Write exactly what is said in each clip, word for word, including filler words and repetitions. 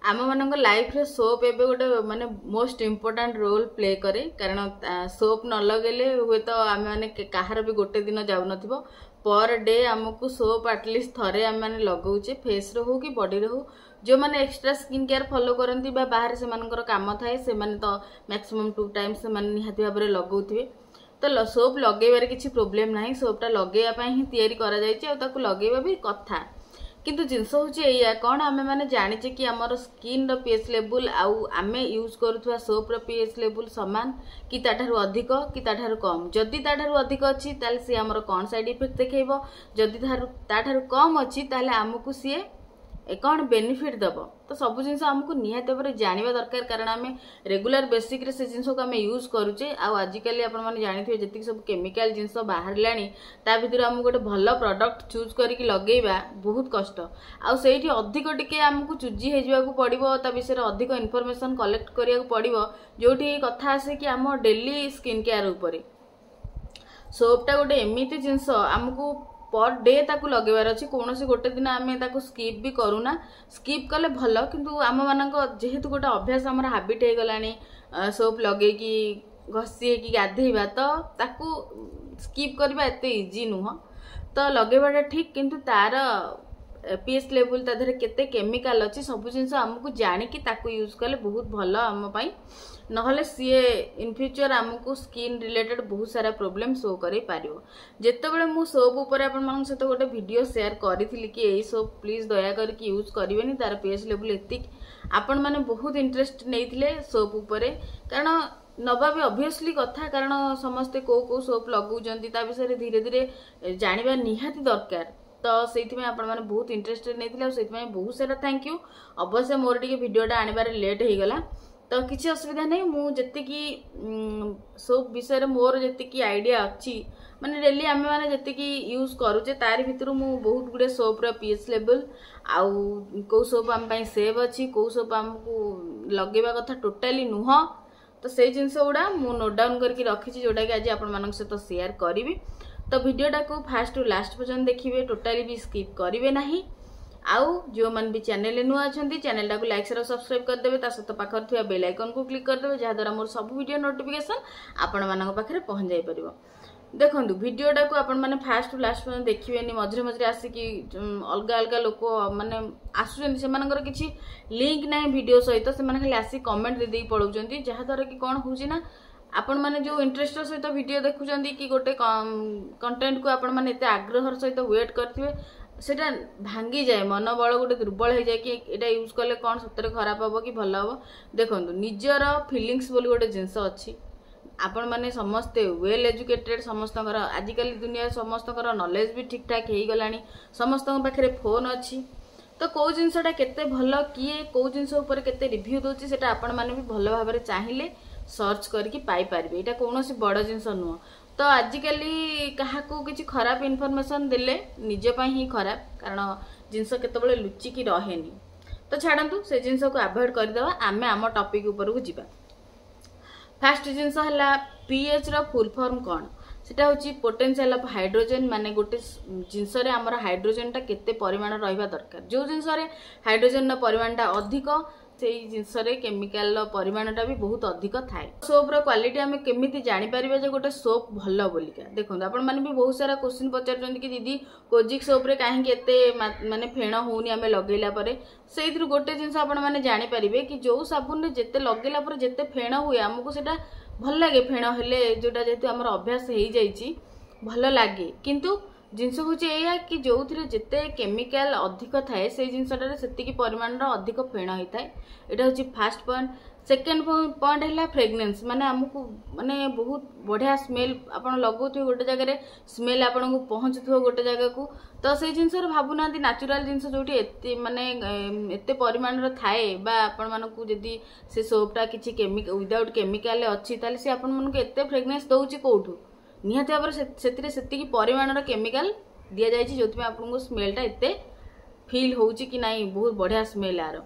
ଆମମାନଙ୍କ ଲାଇଫ୍ରେ ସୋପ୍ ଏବେ ଗୋଟେ ମାନେ ମୋଷ୍ଟ ଇମ୍ପୋର୍ଟାଣ୍ଟ ରୋଲ୍ ପ୍ଲେ କରେ କାରଣ ସୋପ୍ ନ ଲଗେଇଲେ ହୁଏତ ଆମେମାନେ କାହାର ବି ଗୋଟେ ଦିନ ଯାଉନଥିବ ପର୍ ଡେ ଆମକୁ ସୋପ୍ ଆଟଲିଷ୍ଟ ଥରେ ଆମେମାନେ ଲଗାଉଛେ ଫେସ୍ରେ ହଉ କି ବଡ଼ିରେ ହଉ ଯେଉଁମାନେ ଏକ୍ସଟ୍ରା ସ୍କିନ୍ କେୟାର ଫଲୋ କରନ୍ତି ବା ବାହାରେ ସେମାନଙ୍କର କାମ ଥାଏ ସେମାନେ ତ ମ୍ୟାକ୍ସିମମ୍ ଟୁ ଟାଇମ୍ସ ସେମାନେ ନିହାତି ଭାବରେ ଲଗାଉଥିବେ ତ ସୋପ୍ ଲଗେଇବାରେ କିଛି ପ୍ରୋବ୍ଲେମ୍ ନାହିଁ ସୋପ୍ଟା ଲଗେଇବା ପାଇଁ ହିଁ ତିଆରି କରାଯାଇଛି ଆଉ ତାକୁ ଲଗେଇବା ବି କଥା କିନ୍ତୁ ଜିନିଷ ହେଉଛି ଏଇଆ କ'ଣ ଆମେମାନେ ଜାଣିଛେ କି ଆମର ସ୍କିନ୍ର ପି ଏଚ୍ ଲେବୁଲ୍ ଆଉ ଆମେ ୟୁଜ୍ କରୁଥିବା ସୋପ୍ର ପି ଏଚ୍ ଲେବୁଲ୍ ସମାନ କି ତାଠାରୁ ଅଧିକ କି ତାଠାରୁ କମ୍ ଯଦି ତାଠାରୁ ଅଧିକ ଅଛି ତାହେଲେ ସିଏ ଆମର କ'ଣ ସାଇଡ଼୍ ଇଫେକ୍ଟ ଦେଖେଇବ ଯଦି ତାଠାରୁ କମ୍ ଅଛି ତାହେଲେ ଆମକୁ ସିଏ କ'ଣ ବେନିଫିଟ୍ ଦେବ ତ ସବୁ ଜିନିଷ ଆମକୁ ନିହାତି ଭାବରେ ଜାଣିବା ଦରକାର କାରଣ ଆମେ ରେଗୁଲାର ବେସିସ୍ରେ ସେ ଜିନିଷକୁ ଆମେ ୟୁଜ୍ କରୁଛେ ଆଉ ଆଜିକାଲି ଆପଣମାନେ ଜାଣିଥିବେ ଯେତିକି ସବୁ କେମିକାଲ ଜିନିଷ ବାହାରିଲାଣି ତା ଭିତରୁ ଆମକୁ ଗୋଟେ ଭଲ ପ୍ରଡକ୍ଟ ଚୁଜ୍ କରିକି ଲଗେଇବା ବହୁତ କଷ୍ଟ ଆଉ ସେଇଠି ଅଧିକ ଟିକେ ଆମକୁ ଚୁଜି ହେଇଯିବାକୁ ପଡ଼ିବ ତା ବିଷୟରେ ଅଧିକ ଇନଫର୍ମେସନ୍ କଲେକ୍ଟ କରିବାକୁ ପଡ଼ିବ ଯେଉଁଠି କଥା ଆସେ କି ଆମ ଡେଲି ସ୍କିନ୍ କେୟାର ଉପରେ ସୋପ୍ଟା ଗୋଟେ ଏମିତି ଜିନିଷ ଆମକୁ ପର୍ ଡେ ତାକୁ ଲଗେଇବାର ଅଛି କୌଣସି ଗୋଟେ ଦିନ ଆମେ ତାକୁ ସ୍କିପ୍ ବି କରୁନା ସ୍କିପ୍ କଲେ ଭଲ କିନ୍ତୁ ଆମମାନଙ୍କ ଯେହେତୁ ଗୋଟେ ଅଭ୍ୟାସ ଆମର ହାବିଟ୍ ହେଇଗଲାଣି ସୋପ୍ ଲଗେଇକି ଘଷି ହେଇକି ଗାଧେଇବା ତ ତାକୁ ସ୍କିପ୍ କରିବା ଏତେ ଇଜି ନୁହଁ ତ ଲଗେଇବାଟା ଠିକ୍ କିନ୍ତୁ ତାର ପି ଏଚ୍ ଲେବୁଲ୍ ତା ଦେହରେ କେତେ କେମିକାଲ ଅଛି ସବୁ ଜିନିଷ ଆମକୁ ଜାଣିକି ତାକୁ ୟୁଜ୍ କଲେ ବହୁତ ଭଲ ଆମ ପାଇଁ ନହେଲେ ସିଏ ଇନ୍ ଫ୍ୟୁଚର୍ ଆମକୁ ସ୍କିନ୍ ରିଲେଟେଡ୍ ବହୁତ ସାରା ପ୍ରୋବ୍ଲେମ୍ ଶୋ କରେଇ ପାରିବ ଯେତେବେଳେ ମୁଁ ସୋପ୍ ଉପରେ ଆପଣମାନଙ୍କ ସହିତ ଗୋଟେ ଭିଡ଼ିଓ ସେୟାର କରିଥିଲି କି ଏଇ ସୋପ୍ ପ୍ଲିଜ୍ ଦୟା କରିକି ୟୁଜ୍ କରିବେନି ତାର ପି ଏଚ୍ ଲେବୁଲ୍ ଏତିକି ଆପଣମାନେ ବହୁତ ଇଣ୍ଟରେଷ୍ଟ ନେଇଥିଲେ ସୋପ୍ ଉପରେ କାରଣ ନବା ବି ଅବଭିୟସଲି କଥା କାରଣ ସମସ୍ତେ କେଉଁ କେଉଁ ସୋପ୍ ଲଗାଉଛନ୍ତି ତା ବିଷୟରେ ଧୀରେ ଧୀରେ ଜାଣିବା ନିହାତି ଦରକାର ତ ସେଇଥିପାଇଁ ଆପଣମାନେ ବହୁତ ଇଣ୍ଟରେଷ୍ଟେଡ୍ ନେଇଥିଲେ ଆଉ ସେଇଥିପାଇଁ ବହୁତ ସାରା thank you ଅବଶ୍ୟ ମୋର ଟିକେ ଭିଡ଼ିଓଟା ଆଣିବାରେ ଲେଟ୍ ହେଇଗଲା ତ କିଛି ଅସୁବିଧା ନାହିଁ ମୁଁ ଯେତିକି ସୋପ୍ ବିଷୟରେ ମୋର ଯେତିକି ଆଇଡ଼ିଆ ଅଛି ମାନେ ଡେଲି ଆମେମାନେ ଯେତିକି ୟୁଜ୍ କରୁଛେ ତାରି ଭିତରୁ ମୁଁ ବହୁତ ଗୁଡ଼ିଏ ସୋପ୍ର ପି ଏଚ୍ ଲେବୁଲ୍ ଆଉ କେଉଁ ସୋପ୍ ଆମ ପାଇଁ ସେଫ୍ ଅଛି କେଉଁ ସୋପ୍ ଆମକୁ ଲଗେଇବା କଥା ଟୋଟାଲି ନୁହଁ ତ ସେଇ ଜିନିଷ ଗୁଡ଼ା ମୁଁ ନୋଟ୍ ଡାଉନ୍ କରିକି ରଖିଛି ଯେଉଁଟାକି ଆଜି ଆପଣମାନଙ୍କ ସହିତ ସେୟାର କରିବି ତ ଭିଡ଼ିଓଟାକୁ ଫାଷ୍ଟରୁ ଲାଷ୍ଟ ପର୍ଯ୍ୟନ୍ତ ଦେଖିବେ ଟୋଟାଲି ବି ସ୍କିପ୍ କରିବେ ନାହିଁ ଆଉ ଯେଉଁମାନେ ବି ଚ୍ୟାନେଲରେ ନୂଆ ଅଛନ୍ତି ଚ୍ୟାନେଲଟାକୁ ଲାଇକ୍ ସେୟାର ସବସ୍କ୍ରାଇବ୍ କରିଦେବେ ତା ସହିତ ପାଖରେ ଥିବା ବେଲ୍ ଆଇକନ୍କୁ କ୍ଲିକ୍ କରିଦେବେ ଯାହାଦ୍ୱାରା ମୋର ସବୁ ଭିଡ଼ିଓ ନୋଟିଫିକେସନ୍ ଆପଣମାନଙ୍କ ପାଖରେ ପହଞ୍ଚାଇ ପାରିବ ଦେଖନ୍ତୁ ଭିଡ଼ିଓଟାକୁ ଆପଣମାନେ ଫାଷ୍ଟରୁ ଲାଷ୍ଟ ପର୍ଯ୍ୟନ୍ତ ଦେଖିବେନି ମଝିରେ ମଝିରେ ଆସିକି ଅଲଗା ଅଲଗା ଲୋକ ମାନେ ଆସୁଛନ୍ତି ସେମାନଙ୍କର କିଛି ଲିଙ୍କ ନାହିଁ ଭିଡ଼ିଓ ସହିତ ସେମାନେ ଖାଲି ଆସିକି କମେଣ୍ଟ ଦେଇଦେଇକି ପଳାଉଛନ୍ତି ଯାହାଦ୍ୱାରା କି କ'ଣ ହେଉଛି ନା ଆପଣମାନେ ଯେଉଁ ଇଣ୍ଟରେଷ୍ଟର ସହିତ ଭିଡ଼ିଓ ଦେଖୁଛନ୍ତି କି ଗୋଟେ କଣ୍ଟେଣ୍ଟକୁ ଆପଣମାନେ ଏତେ ଆଗ୍ରହର ସହିତ ୱେଟ୍ କରିଥିବେ ସେଇଟା ଭାଙ୍ଗିଯାଏ ମନୋବଳ ଗୋଟେ ଦୁର୍ବଳ ହେଇଯାଏ କି ଏଇଟା ୟୁଜ୍ କଲେ କ'ଣ ସତରେ ଖରାପ ହେବ କି ଭଲ ହେବ ଦେଖନ୍ତୁ ନିଜର ଫିଲିଙ୍ଗସ୍ ବୋଲି ଗୋଟେ ଜିନିଷ ଅଛି ଆପଣମାନେ ସମସ୍ତେ ୱେଲ୍ ଏଜୁକେଟେଡ୍ ସମସ୍ତଙ୍କର ଆଜିକାଲି ଦୁନିଆରେ ସମସ୍ତଙ୍କର ନଲେଜ ବି ଠିକ୍ ଠାକ୍ ହେଇଗଲାଣି ସମସ୍ତଙ୍କ ପାଖରେ ଫୋନ୍ ଅଛି ତ କେଉଁ ଜିନିଷଟା କେତେ ଭଲ କିଏ କେଉଁ ଜିନିଷ ଉପରେ କେତେ ରିଭ୍ୟୁ ଦେଉଛି ସେଇଟା ଆପଣମାନେ ବି ଭଲ ଭାବରେ ଚାହିଁଲେ ସର୍ଚ୍ଚ କରିକି ପାଇପାରିବେ ଏଇଟା କୌଣସି ବଡ଼ ଜିନିଷ ନୁହଁ ତ ଆଜିକାଲି କାହାକୁ କିଛି ଖରାପ ଇନଫର୍ମେସନ୍ ଦେଲେ ନିଜ ପାଇଁ ହିଁ ଖରାପ କାରଣ ଜିନିଷ କେତେବେଳେ ଲୁଚିକି ରହେନି ତ ଛାଡ଼ନ୍ତୁ ସେ ଜିନିଷକୁ ଆଭଏଡ଼ କରିଦେବା ଆମେ ଆମ ଟପିକ୍ ଉପରକୁ ଯିବା ଫାଷ୍ଟ ଜିନିଷ ହେଲା ପିଏଚ୍ର ଫୁଲ୍ ଫର୍ମ କ'ଣ ସେଟା ହେଉଛି ପୋଟେନ୍ସିଆଲ ଅଫ୍ ହାଇଡ୍ରୋଜେନ୍ ମାନେ ଗୋଟେ ଜିନିଷରେ ଆମର ହାଇଡ୍ରୋଜେନ୍ଟା କେତେ ପରିମାଣ ରହିବା ଦରକାର ଯେଉଁ ଜିନିଷରେ ହାଇଡ୍ରୋଜେନ୍ର ପରିମାଣଟା ଅଧିକ ସେଇ ଜିନିଷରେ କେମିକାଲର ପରିମାଣଟା ବି ବହୁତ ଅଧିକ ଥାଏ ସୋପ୍ର କ୍ୱାଲିଟି ଆମେ କେମିତି ଜାଣିପାରିବା ଯେ ଗୋଟେ ସୋପ୍ ଭଲ ବୋଲିକା ଦେଖନ୍ତୁ ଆପଣମାନେ ବି ବହୁତ ସାରା କୋଶ୍ଚିନ୍ ପଚାରୁଛନ୍ତି କି ଦିଦି କୋଜିକ୍ ସୋପ୍ରେ କାହିଁକି ଏତେ ମାନେ ଫେଣ ହେଉନି ଆମେ ଲଗେଇଲା ପରେ ସେଇଥିରୁ ଗୋଟେ ଜିନିଷ ଆପଣମାନେ ଜାଣିପାରିବେ କି ଯେଉଁ ସାବୁନରେ ଯେତେ ଲଗେଇଲା ପରେ ଯେତେ ଫେଣ ହୁଏ ଆମକୁ ସେଇଟା ଭଲ ଲାଗେ ଫେଣ ହେଲେ ଯେଉଁଟା ଯେହେତୁ ଆମର ଅଭ୍ୟାସ ହେଇଯାଇଛି ଭଲ ଲାଗେ କିନ୍ତୁ ଜିନିଷ ହେଉଛି ଏଇଆ କି ଯେଉଁଥିରେ ଯେତେ କେମିକାଲ ଅଧିକ ଥାଏ ସେଇ ଜିନିଷଟାରେ ସେତିକି ପରିମାଣର ଅଧିକ ଫେଣ ହେଇଥାଏ ଏଇଟା ହେଉଛି ଫାଷ୍ଟ ପଏଣ୍ଟ ସେକେଣ୍ଡ ପଏଣ୍ଟ ହେଲା ଫ୍ରେଗନେନ୍ସ ମାନେ ଆମକୁ ମାନେ ବହୁତ ବଢ଼ିଆ ସ୍ମେଲ୍ ଆପଣ ଲଗାଉଥିବେ ଗୋଟେ ଜାଗାରେ ସ୍ମେଲ୍ ଆପଣଙ୍କୁ ପହଞ୍ଚୁଥିବ ଗୋଟେ ଜାଗାକୁ ତ ସେଇ ଜିନିଷରେ ଭାବୁନାହାନ୍ତି ନ୍ୟାଚୁରାଲ ଜିନିଷ ଯେଉଁଠି ଏତେ ମାନେ ଏତେ ପରିମାଣର ଥାଏ ବା ଆପଣମାନଙ୍କୁ ଯଦି ସେ ସୋପ୍ଟା କିଛି କେମିକା ୱିଦାଉଟ୍ କେମିକାଲ ଅଛି ତାହେଲେ ସେ ଆପଣମାନଙ୍କୁ ଏତେ ଫ୍ରେଗନେନ୍ସ ଦେଉଛି କେଉଁଠୁ ନିହାତି ଭାବରେ ସେଥିରେ ସେତିକି ପରିମାଣର କେମିକାଲ ଦିଆଯାଇଛି ଯେଉଁଥିପାଇଁ ଆପଣଙ୍କୁ ସ୍ମେଲ୍ଟା ଏତେ ଫିଲ୍ ହେଉଛି କି ନାଇଁ ବହୁତ ବଢ଼ିଆ ସ୍ମେଲ୍ ଆର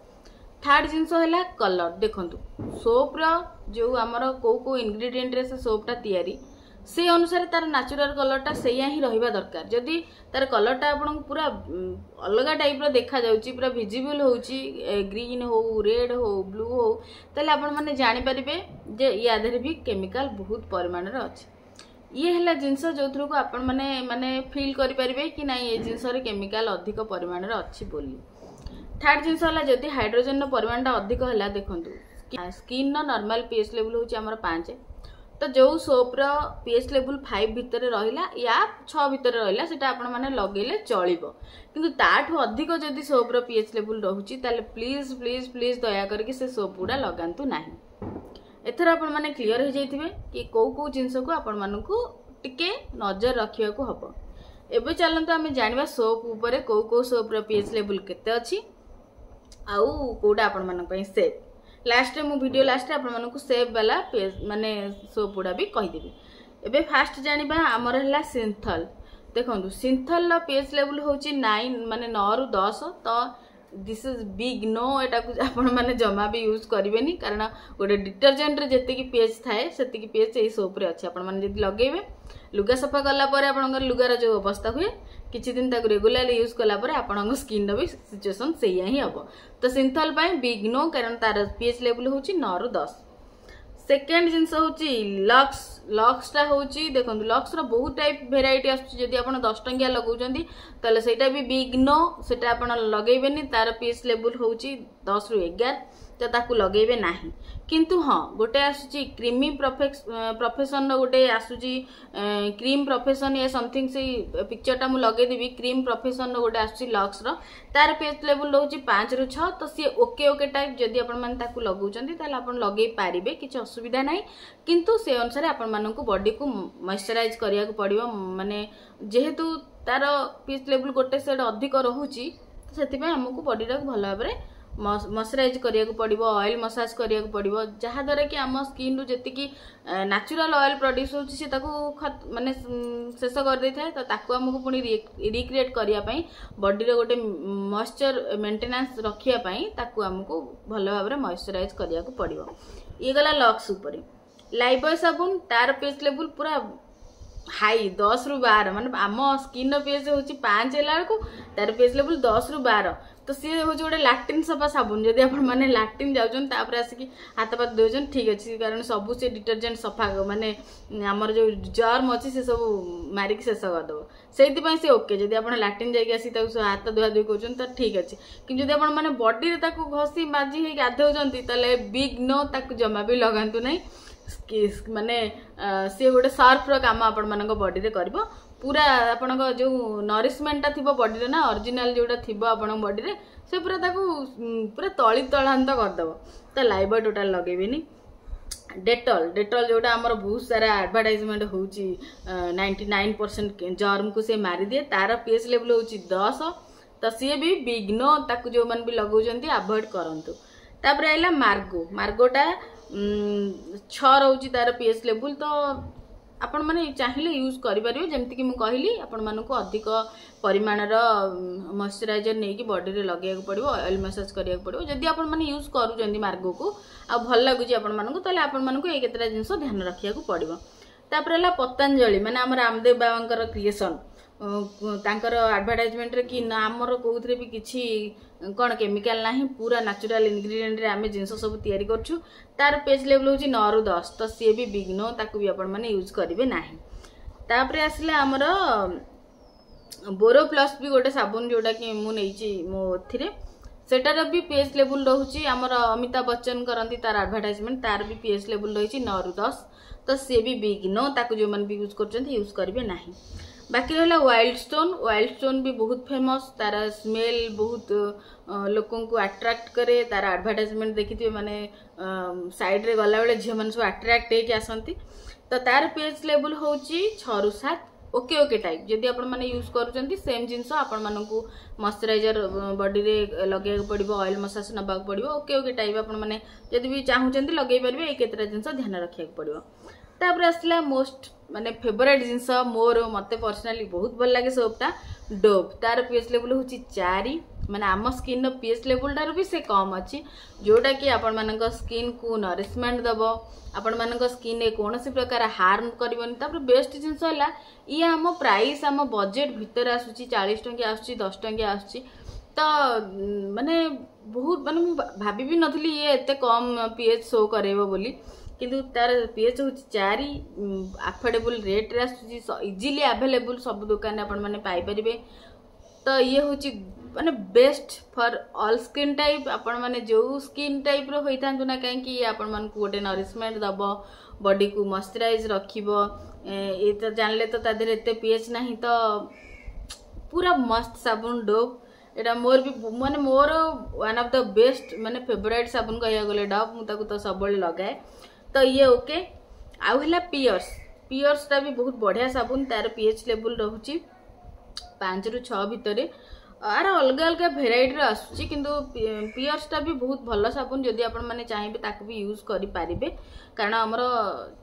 ଥାର୍ଡ ଜିନିଷ ହେଲା କଲର୍ ଦେଖନ୍ତୁ ସୋପ୍ର ଯେଉଁ ଆମର କେଉଁ କେଉଁ ଇନଗ୍ରିଡ଼ିଏଣ୍ଟରେ ସେ ସୋପ୍ଟା ତିଆରି ସେ ଅନୁସାରେ ତାର ନ୍ୟାଚୁରାଲ କଲର୍ଟା ସେଇଆ ହିଁ ରହିବା ଦରକାର ଯଦି ତାର କଲର୍ଟା ଆପଣଙ୍କୁ ପୁରା ଅଲଗା ଟାଇପ୍ର ଦେଖାଯାଉଛି ପୁରା ଭିଜିବଲ୍ ହେଉଛି ଗ୍ରୀନ୍ ହଉ ରେଡ୍ ହଉ ବ୍ଲୁ ହଉ ତାହେଲେ ଆପଣମାନେ ଜାଣିପାରିବେ ଯେ ୟା ଦେହରେ ବି କେମିକାଲ ବହୁତ ପରିମାଣରେ ଅଛି ଇଏ ହେଲା ଜିନିଷ ଯେଉଁଥିରକୁ ଆପଣମାନେ ମାନେ ଫିଲ୍ କରିପାରିବେ କି ନାଇଁ ଏ ଜିନିଷରେ କେମିକାଲ ଅଧିକ ପରିମାଣରେ ଅଛି ବୋଲି ଥାର୍ଡ ଜିନିଷ ହେଲା ଯଦି ହାଇଡ୍ରୋଜେନର ପରିମାଣଟା ଅଧିକ ହେଲା ଦେଖନ୍ତୁ ସ୍କିନ୍ର ନର୍ମାଲ ପିଏଚ୍ ଲେବୁଲ୍ ହେଉଛି ଆମର ପାଞ୍ଚ ତ ଯେଉଁ ସୋପ୍ର ପିଏଚ୍ ଲେବୁଲ୍ ଫାଇଭ୍ ଭିତରେ ରହିଲା ୟା ଛଅ ଭିତରେ ରହିଲା ସେଟା ଆପଣମାନେ ଲଗେଇଲେ ଚଳିବ କିନ୍ତୁ ତାଠୁ ଅଧିକ ଯଦି ସୋପ୍ର ପିଏଚ୍ ଲେବୁଲ୍ ରହୁଛି ତାହେଲେ ପ୍ଲିଜ୍ ପ୍ଲିଜ୍ ପ୍ଲିଜ୍ ଦୟା କରିକି ସେ ସୋପ୍ ଗୁଡ଼ା ଲଗାନ୍ତୁ ନାହିଁ ଏଥର ଆପଣମାନେ କ୍ଲିଅର ହେଇଯାଇଥିବେ କି କେଉଁ କେଉଁ ଜିନିଷକୁ ଆପଣମାନଙ୍କୁ ଟିକେ ନଜର ରଖିବାକୁ ହବ ଏବେ ଚାଲନ୍ତୁ ଆମେ ଜାଣିବା ସୋପ୍ ଉପରେ କେଉଁ କେଉଁ ସୋପ୍ର ପିଏଚ୍ ଲେବୁଲ୍ କେତେ ଅଛି ଆଉ କେଉଁଟା ଆପଣମାନଙ୍କ ପାଇଁ ସେଫ୍ ଲାଷ୍ଟରେ ମୁଁ ଭିଡ଼ିଓ ଲାଷ୍ଟରେ ଆପଣମାନଙ୍କୁ ସେଫ୍ ବାଲା ମାନେ ସୋପ୍ ଗୁଡ଼ା ବି କହିଦେବି ଏବେ ଫାଷ୍ଟ ଜାଣିବା ଆମର ହେଲା ସିନ୍ଥଲ ଦେଖନ୍ତୁ ସିନ୍ଥଲର ପିଏଚ୍ ଲେବୁଲ୍ ହେଉଛି ନାଇନ୍ ମାନେ ନଅରୁ ଦଶ ତ this is big no ଏଟାକୁ ଆପଣମାନେ ଜମା ବି ୟୁଜ୍ କରିବେନି କାରଣ ଗୋଟେ ଡିଟରଜେଣ୍ଟରେ ଯେତିକି ପିଏଚ୍ ଥାଏ ସେତିକି ପିଏଚ୍ ଏଇ ସୋପ୍ରେ ଅଛି ଆପଣମାନେ ଯଦି ଲଗେଇବେ ଲୁଗା ସଫା କଲା ପରେ ଆପଣଙ୍କର ଲୁଗାର ଯେଉଁ ଅବସ୍ଥା ହୁଏ କିଛି ଦିନ ତାକୁ ରେଗୁଲାର ୟୁଜ୍ କଲା ପରେ ଆପଣଙ୍କ ସ୍କିନ୍ର ବି ସିଚୁଏସନ୍ ସେଇଆ ହିଁ ହେବ ତ ସିନ୍ଥଲ ପାଇଁ ବିଗ୍ ନୋ କାରଣ ତାର ପିଏଚ୍ ଲେବୁଲ୍ ହେଉଛି ନଅରୁ ଦଶ ସେକେଣ୍ଡ ଜିନିଷ ହେଉଛି ଲକ୍ସ ଲକ୍ସଟା ହେଉଛି ଦେଖନ୍ତୁ ଲକ୍ସର ବହୁତ ଟାଇପ୍ ଭେରାଇଟି ଆସୁଛି ଯଦି ଆପଣ ଦଶ ଟଙ୍କିଆ ଲଗାଉଛନ୍ତି ତାହେଲେ ସେଇଟା ବି ବିଗ୍ ନୋ ସେଇଟା ଆପଣ ଲଗେଇବେନି ତାର ପିଏଚ୍ ଲେବୁଲ୍ ହେଉଛି ଦଶରୁ ଏଗାର ତ ତାକୁ ଲଗେଇବେ ନାହିଁ କିନ୍ତୁ ହଁ ଗୋଟେ ଆସୁଛି କ୍ରିମି ପ୍ରଫେସନର ଗୋଟେ ଆସୁଛି କ୍ରିମ୍ ପ୍ରଫେସନ ୟା ସମଥିଙ୍ଗ ସେଇ ପିକ୍ଚରଟା ମୁଁ ଲଗେଇଦେବି କ୍ରିମ୍ ପ୍ରଫେସନର ଗୋଟେ ଆସୁଛି ଲକ୍ସର ତାର ପିଏଚ୍ ଲେବୁଲ୍ ରହୁଛି ପାଞ୍ଚରୁ ଛଅ ତ ସିଏ ଓକେ ଓକେ ଟାଇପ୍ ଯଦି ଆପଣମାନେ ତାକୁ ଲଗାଉଛନ୍ତି ତାହେଲେ ଆପଣ ଲଗେଇ ପାରିବେ କିଛି ଅସୁବିଧା ନାହିଁ କିନ୍ତୁ ସେ ଅନୁସାରେ ଆପଣମାନଙ୍କୁ ବଡିକୁ ମଏଶ୍ଚରାଇଜ୍ କରିବାକୁ ପଡ଼ିବ ମାନେ ଯେହେତୁ ତାର ପିଏଚ୍ ଲେବୁଲ୍ ଗୋଟେ ସେଡ୍ ଅଧିକ ରହୁଛି ସେଥିପାଇଁ ଆମକୁ ବଡିଟାକୁ ଭଲ ଭାବରେ ମଏଶ୍ଚରାଇଜ୍ କରିବାକୁ ପଡ଼ିବ ଅଏଲ୍ ମସାଜ କରିବାକୁ ପଡ଼ିବ ଯାହାଦ୍ୱାରା କି ଆମ ସ୍କିନ୍ରୁ ଯେତିକି ନ୍ୟାଚୁରାଲ ଅଏଲ୍ ପ୍ରଡ୍ୟୁସ୍ ହେଉଛି ସେ ତାକୁ ମାନେ ଶେଷ କରିଦେଇଥାଏ ତ ତାକୁ ଆମକୁ ପୁଣି ରିକ୍ରିଏଟ୍ କରିବା ପାଇଁ ବଡିର ଗୋଟେ ମଏଶ୍ଚର ମେଣ୍ଟେନାନ୍ସ ରଖିବା ପାଇଁ ତାକୁ ଆମକୁ ଭଲ ଭାବରେ ମଏଶ୍ଚରାଇଜ୍ କରିବାକୁ ପଡ଼ିବ ଇଏ ଗଲା ଲକ୍ସ ଉପରେ ଲାଇଫବୟ ସାବୁନ ତାର ପିଏଚ୍ ଲେବୁଲ୍ ପୁରା ହାଇ ଦଶରୁ ବାର ମାନେ ଆମ ସ୍କିନ୍ର ପିଏଚ୍ ହେଉଛି ପାଞ୍ଚ ହେଲା ବେଳକୁ ତାର ପିଏଚ୍ ଲେବୁଲ୍ ଦଶରୁ ବାର ତ ସିଏ ହେଉଛି ଗୋଟେ ଲାଟ୍ରିନ୍ ସଫା ସାବୁନ ଯଦି ଆପଣମାନେ ଲାଟ୍ରିନ୍ ଯାଉଛନ୍ତି ତାପରେ ଆସିକି ହାତ ପାତ ଧୋଉଛନ୍ତି ଠିକ୍ ଅଛି କାରଣ ସବୁ ସେ ଡିଟରଜେଣ୍ଟ ସଫା ମାନେ ଆମର ଯେଉଁ ଜର୍ମ ଅଛି ସେ ସବୁ ମାରିକି ଶେଷ କରିଦେବ ସେଇଥିପାଇଁ ସେ ଓକେ ଯଦି ଆପଣ ଲାଟ୍ରିନ୍ ଯାଇକି ଆସିକି ତାକୁ ହାତ ଧୁଆ ଧୁଇ କରୁଛନ୍ତି ତ ଠିକ୍ ଅଛି କିନ୍ତୁ ଯଦି ଆପଣ ମାନେ ବଡିରେ ତାକୁ ଘଷି ମାଜି ହେଇକି ଗାଧଉଛନ୍ତି ତାହେଲେ ବିଗ୍ ନୋ ତାକୁ ଜମା ବି ଲଗାନ୍ତୁ ନାହିଁ ମାନେ ସିଏ ଗୋଟେ ସର୍ଫର କାମ ଆପଣମାନଙ୍କ ବଡିରେ କରିବ ପୁରା ଆପଣଙ୍କ ଯେଉଁ ନରିଶମେଣ୍ଟଟା ଥିବ ବଡିରେ ନା ଅରିଜିନାଲ ଯେଉଁଟା ଥିବ ଆପଣଙ୍କ ବଡିରେ ସେ ପୁରା ତାକୁ ପୁରା ତଳି ତଳାନ୍ତ କରିଦେବ ତ ଲାଇଫବୟ ଟୋଟାଲ ଲଗେଇବେନି ଡେଟଲ ଡେଟଲ ଯେଉଁଟା ଆମର ବହୁତ ସାରା ଆଡ଼ଭର୍ଟାଇଜମେଣ୍ଟ ହେଉଛି ନାଇଣ୍ଟି ନାଇନ୍ ପରସେଣ୍ଟ ଜର୍ମକୁ ସେ ମାରିଦିଏ ତାର ପିଏଚ୍ ଲେବୁଲ୍ ହେଉଛି ଦଶ ତ ସିଏ ବି ବିଗ୍ ନୋ ତାକୁ ଯେଉଁମାନେ ବି ଲଗାଉଛନ୍ତି ଆଭଏଡ଼ କରନ୍ତୁ ତାପରେ ଆସିଲା ମାର୍ଗୋ ମାର୍ଗୋଟା ଛଅ ରହୁଛି ତାର ପିଏଚ୍ ଲେବୁଲ୍ ତ ଆପଣମାନେ ଚାହିଁଲେ ୟୁଜ୍ କରିପାରିବେ ଯେମିତିକି ମୁଁ କହିଲି ଆପଣମାନଙ୍କୁ ଅଧିକ ପରିମାଣର ମଏଶ୍ଚରାଇଜର ନେଇକି ବଡିରେ ଲଗେଇବାକୁ ପଡ଼ିବ ଅଏଲ୍ ମସାଜ କରିବାକୁ ପଡ଼ିବ ଯଦି ଆପଣମାନେ ୟୁଜ୍ କରୁଛନ୍ତି ମାର୍ଗୋକୁ ଆଉ ଭଲ ଲାଗୁଛି ଆପଣମାନଙ୍କୁ ତାହେଲେ ଆପଣମାନଙ୍କୁ ଏଇ କେତେଟା ଜିନିଷ ଧ୍ୟାନ ରଖିବାକୁ ପଡ଼ିବ ତାପରେ ହେଲା ପତଞ୍ଜଳି ମାନେ ଆମ ରାମଦେବ ବାବାଙ୍କର କ୍ରିଏସନ୍ ତାଙ୍କର ଆଡ଼ଭର୍ଟାଇଜମେଣ୍ଟରେ କି ନା ଆମର କେଉଁଥିରେ ବି କିଛି କ'ଣ କେମିକାଲ ନାହିଁ ପୁରା ନ୍ୟାଚୁରାଲ ଇନଗ୍ରିଡ଼ିଏଣ୍ଟରେ ଆମେ ଜିନିଷ ସବୁ ତିଆରି କରୁଛୁ ତାର ପିଏଚ୍ ଲେବୁଲ୍ ହେଉଛି ନଅରୁ ଦଶ ତ ସିଏ ବି ବିଗ୍ ନୋ ତାକୁ ବି ଆପଣମାନେ ୟୁଜ୍ କରିବେ ନାହିଁ ତାପରେ ଆସିଲା ଆମର ବୋରୋ ପ୍ଲସ୍ ବି ଗୋଟେ ସାବୁନ ଯେଉଁଟାକି ମୁଁ ନେଇଛି ମୋ ଏଥିରେ ସେଟାର ବି ପିଏଚ୍ ଲେବୁଲ୍ ରହୁଛି ଆମର ଅମିତାଭ ବଚ୍ଚନ କରନ୍ତି ତାର ଆଡ଼ଭର୍ଟାଇଜମେଣ୍ଟ ତାର ବି ପିଏଚ୍ ଲେବୁଲ୍ ରହିଛି ନଅରୁ ଦଶ ତ ସିଏ ବି ବିଗ୍ ନୋ ତାକୁ ଯେଉଁମାନେ ବି ୟୁଜ୍ କରୁଛନ୍ତି ୟୁଜ୍ କରିବେ ନାହିଁ ବାକି ରହିଲା ୱାଇଲ୍ଡ ଷ୍ଟୋନ୍ ୱାଇଲ୍ଡ ଷ୍ଟୋନ୍ ବି ବହୁତ ଫେମସ୍ ତାର ସ୍ମେଲ୍ ବହୁତ ଲୋକଙ୍କୁ ଆଟ୍ରାକ୍ଟ କରେ ତାର ଆଡ଼ଭର୍ଟାଇଜମେଣ୍ଟ ଦେଖିଥିବେ ମାନେ ସାଇଡ଼୍ରେ ଗଲାବେଳେ ଝିଅମାନେ ସବୁ ଆଟ୍ରାକ୍ଟ ହେଇକି ଆସନ୍ତି ତ ତାର ପିଏଚ୍ ଲେବୁଲ୍ ହେଉଛି ଛଅରୁ ସାତ ଓକେ ଓକେ ଟାଇପ୍ ଯଦି ଆପଣମାନେ ୟୁଜ୍ କରୁଛନ୍ତି ସେମ୍ ଜିନିଷ ଆପଣମାନଙ୍କୁ ମଏଶ୍ଚରାଇଜର ବଡିରେ ଲଗେଇବାକୁ ପଡ଼ିବ ଅଏଲ୍ ମସାଜ ନେବାକୁ ପଡ଼ିବ ଓକେ ଓକେ ଟାଇପ୍ ଆପଣମାନେ ଯଦି ବି ଚାହୁଁଛନ୍ତି ଲଗେଇ ପାରିବେ ଏଇ କେତେଟା ଜିନିଷ ଧ୍ୟାନ ରଖିବାକୁ ପଡ଼ିବ ତାପରେ ଆସିଲା ମୋଷ୍ଟ ମାନେ ଫେଭରାଇଟ୍ ଜିନିଷ ମୋର ମୋତେ ପର୍ସନାଲି ବହୁତ ଭଲ ଲାଗେ ସୋପ୍ଟା ଡୋଭ୍ ତାର ପି ଏଚ୍ ଲେବୁଲ୍ ହେଉଛି ଚାରି ମାନେ ଆମ ସ୍କିନ୍ର ପି ଏଚ୍ ଲେବୁଲ୍ଟାରୁ ବି ସେ କମ୍ ଅଛି ଯେଉଁଟାକି ଆପଣମାନଙ୍କ ସ୍କିନ୍କୁ ନରିଶମେଣ୍ଟ ଦେବ ଆପଣମାନଙ୍କ ସ୍କିନ୍ରେ କୌଣସି ପ୍ରକାର ହାର୍ମ କରିବନି ତାପରେ ବେଷ୍ଟ ଜିନିଷ ହେଲା ଇଏ ଆମ ପ୍ରାଇସ୍ ଆମ ବଜେଟ୍ ଭିତରେ ଆସୁଛି ଚାଳିଶ ଟଙ୍କିଆ ଆସୁଛି ଦଶ ଟଙ୍କିଆ ଆସୁଛି ତ ମାନେ ବହୁତ ମାନେ ମୁଁ ଭାବି ବି ନଥିଲି ଇଏ ଏତେ କମ୍ ପି ଏଚ୍ ଶୋ କରେଇବ ବୋଲି କିନ୍ତୁ ତାର ପି ଏଚ୍ ହେଉଛି ଚାରି ଆଫୋର୍ଡେବୁଲ୍ ରେଟ୍ରେ ଆସୁଛି ଇଜିଲି ଆଭେଲେବୁଲ୍ ସବୁ ଦୋକାନରେ ଆପଣମାନେ ପାଇପାରିବେ ତ ଇଏ ହେଉଛି ମାନେ best for all skin type ଆପଣମାନେ ଯେଉଁ ସ୍କିନ୍ ଟାଇପ୍ର ହୋଇଥାନ୍ତୁ ନା କାହିଁକି ଇଏ ଆପଣମାନଙ୍କୁ ଗୋଟେ ନରିଶମେଣ୍ଟ ଦେବ ବଡିକୁ ମଶ୍ଚରାଇଜ୍ ରଖିବ ଏ ତ ଜାଣିଲେ ତ ତା ଦେହରେ ଏତେ ପି ଏଚ୍ ନାହିଁ ତ ପୁରା ମସ୍ତ ସାବୁନ ଡୋଭ୍ ଏଇଟା ମୋର ବି ମାନେ ମୋର ୱାନ୍ ଅଫ୍ the best ମାନେ ଫେଭରାଇଟ୍ ସାବୁନ କହିବାକୁ ଗଲେ ଡୋଭ୍ ମୁଁ ତାକୁ ତ ସବୁବେଳେ ଲଗାଏ ତ ଇଏ ଓକେ ଆଉ ହେଲା ପିୟର୍ସ ପିୟର୍ସଟା ବି ବହୁତ ବଢ଼ିଆ ସାବୁନ ତାର ପି ଏଚ୍ ଲେବୁଲ୍ ରହୁଛି ପାଞ୍ଚରୁ ଛଅ ଭିତରେ ଆର ଅଲଗା ଅଲଗା ଭେରାଇଟିର ଆସୁଛି କିନ୍ତୁ ପିୟର୍ସଟା ବି ବହୁତ ଭଲ ସାବୁନ ଯଦି ଆପଣମାନେ ଚାହିଁବେ ତାକୁ ବି ୟୁଜ୍ କରିପାରିବେ କାରଣ ଆମର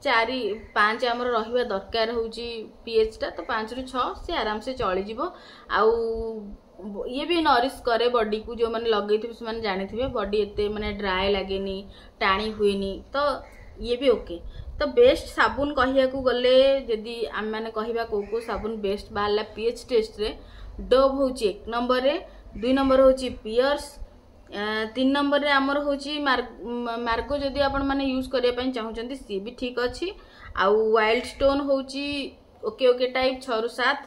ଚାରି ପାଞ୍ଚ ଆମର ରହିବା ଦରକାର ହେଉଛି ପି ଏଚ୍ଟା ତ ପାଞ୍ଚରୁ ଛଅ ସେ ଆରାମସେ ଚଳିଯିବ ଆଉ ଇଏ ବି ନରିଶ କରେ ବଡିକୁ ଯେଉଁମାନେ ଲଗେଇଥିବେ ସେମାନେ ଜାଣିଥିବେ ବଡି ଏତେ ମାନେ ଡ୍ରାଏ ଲାଗେନି ଟାଣି ହୁଏନି ତ ଇଏ ବି ଓକେ ତ ବେଷ୍ଟ ସାବୁନ କହିବାକୁ ଗଲେ ଯଦି ଆମେମାନେ କହିବା କେଉଁ କେଉଁ ସାବୁନ ବେଷ୍ଟ ବାହାରିଲା ପି ଏଚ୍ ଟେଷ୍ଟରେ ଡୋଭ୍ ହେଉଛି ଏକ ନମ୍ବରରେ ଦୁଇ ନମ୍ବର ହେଉଛି ପିୟର୍ସ ତିନି ନମ୍ବରରେ ଆମର ହେଉଛି ମାର୍ଗୋ ଯଦି ଆପଣମାନେ ୟୁଜ୍ କରିବା ପାଇଁ ଚାହୁଁଛନ୍ତି ସିଏ ବି ଠିକ୍ ଅଛି ଆଉ ୱାଇଲ୍ଡ ଷ୍ଟୋନ୍ ହେଉଛି ଓକେ ଓକେ ଟାଇପ୍ ଛଅରୁ ସାତ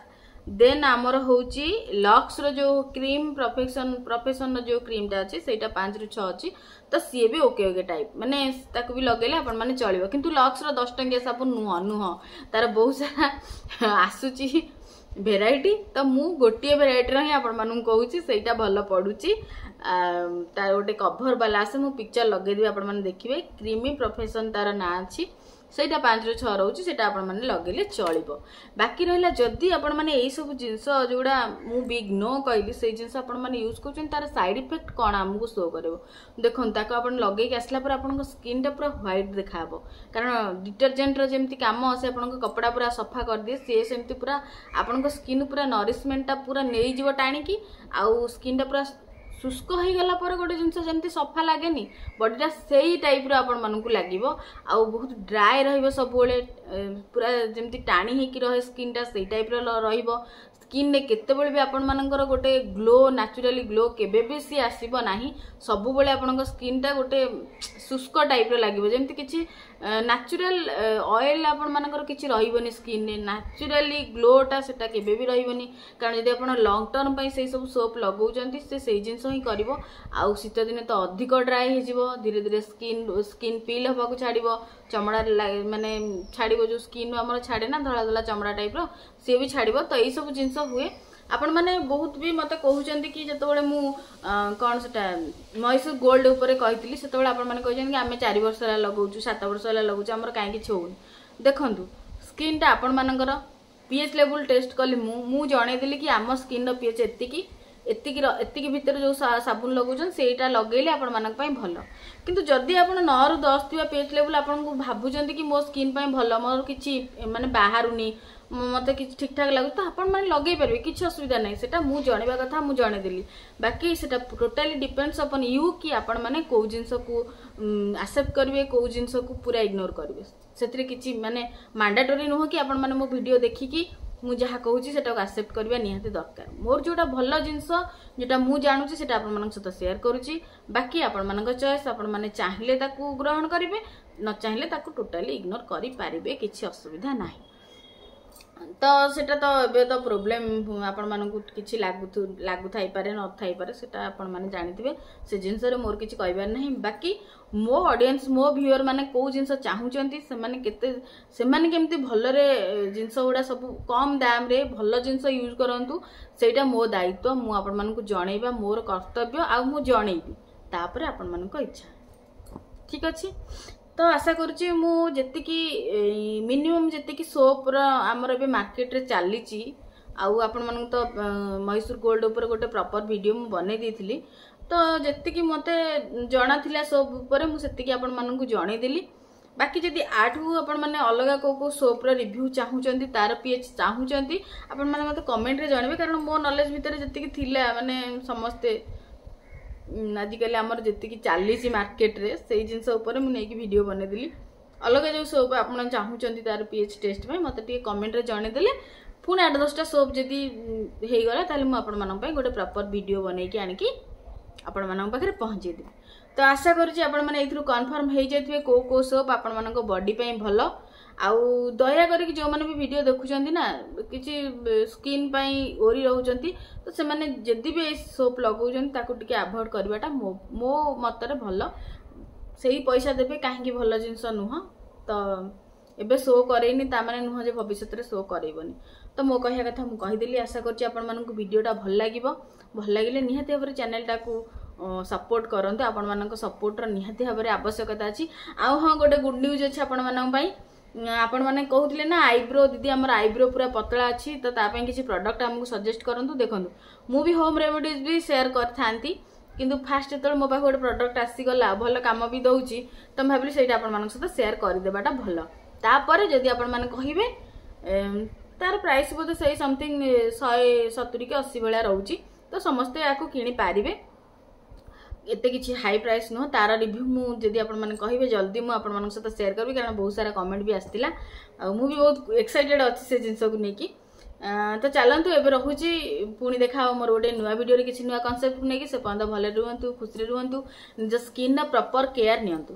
ଦେନ୍ ଆମର ହେଉଛି ଲକ୍ସର ଯେଉଁ କ୍ରିମ୍ ପ୍ରଫେକ୍ସନ୍ ପ୍ରଫେସନର ଯେଉଁ କ୍ରିମ୍ଟା ଅଛି ସେଇଟା ପାଞ୍ଚରୁ ଛଅ ଅଛି ତ ସିଏ ବି ଓକେ ଓକେ ଟାଇପ୍ ମାନେ ତାକୁ ବି ଲଗେଇଲେ ଆପଣମାନେ ଚଳିବ କିନ୍ତୁ ଲକ୍ସର ଦଶ ଟଙ୍କିଆ ସାବୁନ ନୁହଁ ନୁହଁ ତାର ବହୁତ ସାରା ଆସୁଛି ଭେରାଇଟି ତ ମୁଁ ଗୋଟିଏ ଭେରାଇଟିର ହିଁ ଆପଣମାନଙ୍କୁ କହୁଛି ସେଇଟା ଭଲ ପଡ଼ୁଛି ତାର ଗୋଟେ କଭର ବାଲା ଆସେ ମୁଁ ପିକ୍ଚର ଲଗେଇଦେବି ଆପଣମାନେ ଦେଖିବେ କ୍ରିମି ପ୍ରଫେସନ ତାର ନାଁ ଅଛି ସେଇଟା ପାଞ୍ଚରୁ ଛଅ ରହୁଛି ସେଇଟା ଆପଣମାନେ ଲଗେଇଲେ ଚଳିବ ବାକି ରହିଲା ଯଦି ଆପଣମାନେ ଏଇସବୁ ଜିନିଷ ଯେଉଁଗୁଡ଼ା ମୁଁ ବିଗ୍ ନୋ କହିଲି ସେଇ ଜିନିଷ ଆପଣମାନେ ୟୁଜ୍ କରୁଛନ୍ତି ତାର ସାଇଡ୍ ଇଫେକ୍ଟ କ'ଣ ଆମକୁ ଶୋ କରିବ ଦେଖନ୍ତୁ ତାକୁ ଆପଣ ଲଗେଇକି ଆସିଲା ପରେ ଆପଣଙ୍କ ସ୍କିନ୍ଟା ପୁରା ହ୍ୱାଇଟ୍ ଦେଖାହେବ କାରଣ ଡିଟରଜେଣ୍ଟର ଯେମିତି କାମ ସେ ଆପଣଙ୍କ କପଡ଼ା ପୁରା ସଫା କରିଦିଏ ସିଏ ସେମିତି ପୁରା ଆପଣଙ୍କ ସ୍କିନ୍ ପୁରା ନରିଶମେଣ୍ଟଟା ପୁରା ନେଇଯିବ ଟାଣିକି ଆଉ ସ୍କିନ୍ଟା ପୁରା ଶୁଷ୍କ ହେଇଗଲା ପରେ ଗୋଟେ ଜିନିଷ ଯେମିତି ସଫା ଲାଗେନି ବଡ଼ିଟା ସେଇ ଟାଇପ୍ର ଆପଣମାନଙ୍କୁ ଲାଗିବ ଆଉ ବହୁତ ଡ୍ରାଏ ରହିବ ସବୁବେଳେ ପୁରା ଯେମିତି ଟାଣି ହେଇକି ରହେ ସ୍କିନ୍ଟା ସେଇ ଟାଇପ୍ର ରହିବ ସ୍କିନ୍ରେ କେତେବେଳେ ବି ଆପଣମାନଙ୍କର ଗୋଟେ ଗ୍ଲୋ ନ୍ୟାଚୁରାଲି ଗ୍ଲୋ କେବେ ବି ସିଏ ଆସିବ ନାହିଁ ସବୁବେଳେ ଆପଣଙ୍କ ସ୍କିନ୍ଟା ଗୋଟେ ଶୁଷ୍କ ଟାଇପ୍ର ଲାଗିବ ଯେମିତି କିଛି ନ୍ୟାଚୁରାଲ ଅଏଲ୍ ଆପଣମାନଙ୍କର କିଛି ରହିବନି ସ୍କିନ୍ରେ ନ୍ୟାଚୁରାଲି ଗ୍ଲୋଟା ସେଟା କେବେ ବି ରହିବନି କାରଣ ଯଦି ଆପଣ ଲଙ୍ଗ ଟର୍ମ ପାଇଁ ସେଇ ସବୁ ସୋପ୍ ଲଗାଉଛନ୍ତି ସେ ସେଇ ଜିନିଷ ହିଁ କରିବ ଆଉ ଶୀତ ଦିନେ ତ ଅଧିକ ଡ୍ରାଏ ହେଇଯିବ ଧୀରେ ଧୀରେ ସ୍କିନ୍ ସ୍କିନ୍ ପିଲ୍ ହେବାକୁ ଛାଡ଼ିବ ଚମଡ଼ା ମାନେ ଛାଡ଼ିବ ଯେଉଁ ସ୍କିନ୍ ଆମର ଛାଡ଼େ ନା ଧଳା ଧଳା ଚମଡ଼ା ଟାଇପ୍ର ସିଏ ବି ଛାଡ଼ିବ ତ ଏଇସବୁ ଜିନିଷ ହୁଏ ଆପଣମାନେ ବହୁତ ବି ମୋତେ କହୁଛନ୍ତି କି ଯେତେବେଳେ ମୁଁ କ'ଣ ସେଟା ମହୀଶୂର ଗୋଲ୍ଡ ଉପରେ କହିଥିଲି ସେତେବେଳେ ଆପଣମାନେ କହିଛନ୍ତି କି ଆମେ ଚାରି ବର୍ଷ ହେଲା ଲଗାଉଛୁ ସାତ ବର୍ଷ ହେଲା ଲଗାଉଛୁ ଆମର କାହିଁ କିଛି ହେଉନି ଦେଖନ୍ତୁ ସ୍କିନ୍ଟା ଆପଣମାନଙ୍କର ପି ଏଚ୍ ଲେବୁଲ୍ ଟେଷ୍ଟ କଲି ମୁଁ ମୁଁ ଜଣେଇଦେଲି କି ଆମ ସ୍କିନ୍ର ପି ଏଚ୍ ଏତିକି ଏତିକି ଏତିକି ଭିତରେ ଯେଉଁ ସାବୁନ ଲଗାଉଛନ୍ତି ସେଇଟା ଲଗେଇଲେ ଆପଣମାନଙ୍କ ପାଇଁ ଭଲ କିନ୍ତୁ ଯଦି ଆପଣ ନଅରୁ ଦଶ ଥିବା ପି ଏଚ୍ ଲେବୁଲ୍ ଆପଣଙ୍କୁ ଭାବୁଛନ୍ତି କି ମୋ ସ୍କିନ୍ ପାଇଁ ଭଲ ମୋର କିଛି ମାନେ ବାହାରୁନି ମୋତେ କିଛି ଠିକ୍ ଠାକ୍ ଲାଗୁଛି ତ ଆପଣମାନେ ଲଗେଇ ପାରିବେ କିଛି ଅସୁବିଧା ନାହିଁ ସେଟା ମୁଁ ଜଣେଇବା କଥା ମୁଁ ଜଣେଇଦେଲି ବାକି ସେଟା ଟୋଟାଲି ଡିପେଣ୍ଡସ୍ ଅପନ୍ you କି ଆପଣମାନେ କେଉଁ ଜିନିଷକୁ ଆକ୍ସେପ୍ଟ କରିବେ କେଉଁ ଜିନିଷକୁ ପୁରା ଇଗ୍ନୋର କରିବେ ସେଥିରେ କିଛି ମାନେ ମାଣ୍ଡାଟୋରି ନୁହଁ କି ଆପଣମାନେ ମୋ ଭିଡ଼ିଓ ଦେଖିକି ମୁଁ ଯାହା କହୁଛି ସେଟାକୁ ଆକ୍ସେପ୍ଟ କରିବା ନିହାତି ଦରକାର ମୋର ଯେଉଁଟା ଭଲ ଜିନିଷ ଯେଉଁଟା ମୁଁ ଜାଣୁଛି ସେଟା ଆପଣମାନଙ୍କ ସହିତ ସେୟାର କରୁଛି ବାକି ଆପଣମାନଙ୍କ ଚଏସ୍ ଆପଣମାନେ ଚାହିଁଲେ ତାକୁ ଗ୍ରହଣ କରିବେ ନ ଚାହିଁଲେ ତାକୁ ଟୋଟାଲି ଇଗ୍ନୋର କରିପାରିବେ କିଛି ଅସୁବିଧା ନାହିଁ ତ ସେଟା ତ ଏବେ ତ ପ୍ରୋବ୍ଲେମ୍ ଆପଣମାନଙ୍କୁ କିଛି ଲାଗୁ ଲାଗୁଥାଇପାରେ ନଥାଇପାରେ ସେଟା ଆପଣମାନେ ଜାଣିଥିବେ ସେ ଜିନିଷରେ ମୋର କିଛି କହିବାର ନାହିଁ ବାକି ମୋ ଅଡ଼ିଏନ୍ସ ମୋ ଭିଉଅର ମାନେ କେଉଁ ଜିନିଷ ଚାହୁଁଛନ୍ତି ସେମାନେ କେତେ ସେମାନେ କେମିତି ଭଲରେ ଜିନିଷ ଗୁଡ଼ା ସବୁ କମ୍ ଦାମରେ ଭଲ ଜିନିଷ ୟୁଜ୍ କରନ୍ତୁ ସେଇଟା ମୋ ଦାୟିତ୍ୱ ମୁଁ ଆପଣମାନଙ୍କୁ ଜଣେଇବା ମୋର କର୍ତ୍ତବ୍ୟ ଆଉ ମୁଁ ଜଣେଇବି ତାପରେ ଆପଣମାନଙ୍କ ଇଚ୍ଛା ଠିକ୍ ଅଛି ତ ଆଶା କରୁଛି ମୁଁ ଯେତିକି ମିନିମମ୍ ଯେତିକି ସୋପ୍ର ଆମର ଏବେ ମାର୍କେଟରେ ଚାଲିଛି ଆଉ ଆପଣମାନଙ୍କୁ ତ ମହୀଶୂର ଗୋଲ୍ଡ ଉପରେ ଗୋଟେ ପ୍ରପର ଭିଡ଼ିଓ ମୁଁ ବନେଇ ଦେଇଥିଲି ତ ଯେତିକି ମୋତେ ଜଣା ଥିଲା ସୋପ୍ ଉପରେ ମୁଁ ସେତିକି ଆପଣମାନଙ୍କୁ ଜଣେଇଦେଲି ବାକି ଯଦି ୟାଠୁ ଆପଣମାନେ ଅଲଗା କେଉଁ କେଉଁ ସୋପ୍ର ରିଭ୍ୟୁ ଚାହୁଁଛନ୍ତି, ତାର ପି ଏଚ୍ ଚାହୁଁଛନ୍ତି, ଆପଣମାନେ ମୋତେ କମେଣ୍ଟରେ ଜଣାଇବେ। କାରଣ ମୋ ନଲେଜ ଭିତରେ ଯେତିକି ଥିଲା, ମାନେ ସମସ୍ତେ ଆଜିକାଲି ଆମର ଯେତିକି ଚାଲିଛି ମାର୍କେଟରେ, ସେଇ ଜିନିଷ ଉପରେ ମୁଁ ନେଇକି ଭିଡ଼ିଓ ବନେଇଦେଲି। ଅଲଗା ଯେଉଁ ସୋପ୍ ଆପଣ ଚାହୁଁଛନ୍ତି ତାର ପି ଏଚ୍ ଟେଷ୍ଟ ପାଇଁ, ମୋତେ ଟିକେ କମେଣ୍ଟରେ ଜଣେଇଦେଲେ, ପୁଣି ଆଠ ଦଶଟା ସୋପ୍ ଯଦି ହେଇଗଲା, ତାହେଲେ ମୁଁ ଆପଣମାନଙ୍କ ପାଇଁ ଗୋଟେ ପ୍ରପର ଭିଡ଼ିଓ ବନେଇକି ଆଣିକି ଆପଣମାନଙ୍କ ପାଖରେ ପହଞ୍ଚେଇଦେବି। ତ ଆଶା କରୁଛି ଆପଣମାନେ ଏଇଥିରୁ କନଫର୍ମ ହେଇଯାଇଥିବେ କେଉଁ କେଉଁ ସୋପ୍ ଆପଣମାନଙ୍କ ବଡି ପାଇଁ ଭଲ। ଆଉ ଦୟା କରିକି ଯେଉଁମାନେ ବି ଭିଡ଼ିଓ ଦେଖୁଛନ୍ତି ନା, କିଛି ସ୍କିନ୍ ପାଇଁ ୱରି ରହୁଛନ୍ତି, ତ ସେମାନେ ଯଦି ବି ଏଇ ସୋପ୍ ଲଗାଉଛନ୍ତି, ତାକୁ ଟିକେ ଆଭଏଡ଼ କରିବାଟା ମୋ ମୋ ମତରେ ଭଲ। ସେଇ ପଇସା ଦେବେ କାହିଁକି, ଭଲ ଜିନିଷ ନୁହଁ। ତ ଏବେ ଶୋ କରେଇନି ତା ମାନେ ନୁହଁ ଯେ ଭବିଷ୍ୟତରେ ଶୋ କରେଇବନି। ତ ମୋ କହିବା କଥା ମୁଁ କହିଦେଲି। ଆଶା କରୁଛି ଆପଣମାନଙ୍କୁ ଭିଡ଼ିଓଟା ଭଲ ଲାଗିବ। ଭଲ ଲାଗିଲେ ନିହାତି ଭାବରେ ଚ୍ୟାନେଲଟାକୁ ସପୋର୍ଟ କରନ୍ତୁ। ଆପଣମାନଙ୍କ ସପୋର୍ଟର ନିହାତି ଭାବରେ ଆବଶ୍ୟକତା ଅଛି। ଆଉ ହଁ, ଗୋଟେ ଗୁଡ୍ ନ୍ୟୁଜ୍ ଅଛି ଆପଣମାନଙ୍କ ପାଇଁ। ଆପଣମାନେ କହୁଥିଲେ ନା, ଆଇବ୍ରୋ ଦିଦି, ଆମର ଆଇବ୍ରୋ ପୁରା ପତଳା ଅଛି, ତ ତା ପାଇଁ କିଛି ପ୍ରଡକ୍ଟ ଆମକୁ ସଜେଷ୍ଟ କରନ୍ତୁ। ଦେଖନ୍ତୁ, ମୁଁ ବି ହୋମ୍ ରେମେଡିଜ୍ ବି ସେୟାର କରିଥାନ୍ତି, କିନ୍ତୁ ଫାଷ୍ଟ ଯେତେବେଳେ ମୋ ପାଖକୁ ଗୋଟେ ପ୍ରଡକ୍ଟ ଆସିଗଲା, ଭଲ କାମ ବି ଦେଉଛି, ତ ମୁଁ ଭାବିଲି ସେଇଟା ଆପଣମାନଙ୍କ ସହିତ ସେୟାର କରିଦେବାଟା ଭଲ। ତାପରେ ଯଦି ଆପଣମାନେ କହିବେ, ତାର ପ୍ରାଇସ୍ ବୋଧେ ସେଇ ସମଥିଙ୍ଗ ଶହେ ସତୁରି କି ଅଶୀ ଭଳିଆ ରହୁଛି, ତ ସମସ୍ତେ ୟାକୁ କିଣିପାରିବେ, ଏତେ କିଛି ହାଇ ପ୍ରାଇସ୍ ନୁହଁ। ତାର ରିଭ୍ୟୁ ମୁଁ ଯଦି ଆପଣମାନେ କହିବେ, ଜଲ୍ଦି ମୁଁ ଆପଣମାନଙ୍କ ସହିତ ସେୟାର କରିବି, କାରଣ ବହୁତ ସାରା କମେଣ୍ଟ ବି ଆସିଥିଲା ଆଉ ମୁଁ ବି ବହୁତ ଏକ୍ସାଇଟେଡ୍ ଅଛି ସେ ଜିନିଷକୁ ନେଇକି। ତ ଚାଲନ୍ତୁ, ଏବେ ରହୁଛି। ପୁଣି ଦେଖା ହବ ମୋର ଗୋଟେ ନୂଆ ଭିଡ଼ିଓରେ କିଛି ନୂଆ କନସେପ୍ଟକୁ ନେଇକି। ସେ ପର୍ଯ୍ୟନ୍ତ ଭଲରେ ରୁହନ୍ତୁ, ଖୁସିରେ ରୁହନ୍ତୁ, ନିଜ ସ୍କିନ୍ର ପ୍ରପର କେୟାର ନିଅନ୍ତୁ।